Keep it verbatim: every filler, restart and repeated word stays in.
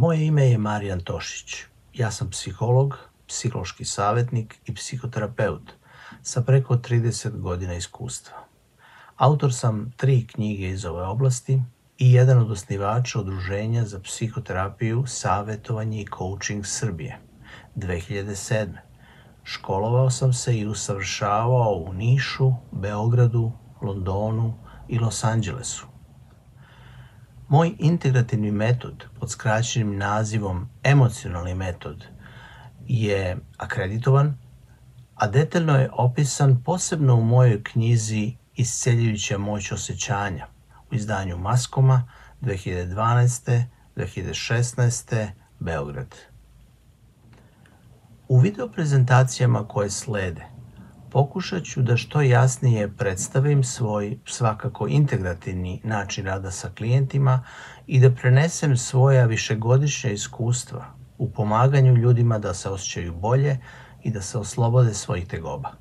Moje ime je Marijan Tošić. Ja sam psiholog, psihološki savjetnik i psihoterapeut sa preko trideset godina iskustva. Autor sam tri knjige iz ove oblasti i jedan od osnivača Udruženja za psihoterapiju, savjetovanje i coaching Srbije dve hiljade sedme. Školovao sam se i usavršavao u Nišu, Beogradu, Londonu i Los Angelesu. Moj integrativni metod pod skraćenim nazivom emocionalni metod je akreditovan, a detaljno je opisan posebno u mojoj knjizi Isceljujuća moć osjećanja u izdanju Maskoma dve hiljade dvanaeste do dve hiljade šesnaeste. Beograd. U video prezentacijama koje slede pokušat ću da što jasnije predstavim svoj svakako integrativni način rada sa klijentima i da prenesem svoja višegodišnja iskustva u pomaganju ljudima da se osjećaju bolje i da se oslobode svojih tegoba.